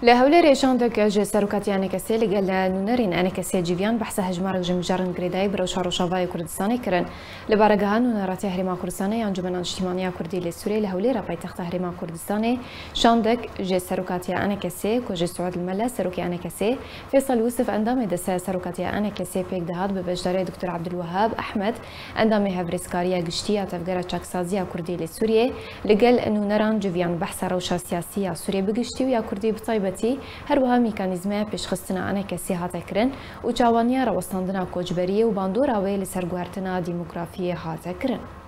لە هەولێرێ شاندەک ژ سەرۆکاتی ئەنەکەسێ لەگەل نوونەرێن ئەنەکەسێ جڤیان بەحسە هەژمارەک ژ مژارن گرێدایی bi rewşa Rojavayê Kurdistanê kirin. Li baregeha Nûneratiya Herêma Kurdistanê ya Encûmena Niştîmaniya Kurdî li Sûriyê li Hewlêra paytexta Herêma Kurdistanê şandek ji Serokatiya ENKSê ku ji Suud Mele Serokê ENKSê, Fêsal Yûsif endamê Desteya Serokatiya ENKSê pêk dihat bi beşdarê Doktor Ebdulwehab Ehmed endamê Hevrêzkariya Giştî ya Tevgera Çaksaziya Kurdî li Sûriyê li gel nûneran civiyan behsa rewşa siyasî ya Sûriyê bi giştî û ya Kurdî bi taybetî her wiha mîkanîzmeya pêşxistina ENKSê hate kirin û çawaniya rawestandina koçberiyê û bandora wê li ser guhertina dîmografiyê hate kirin.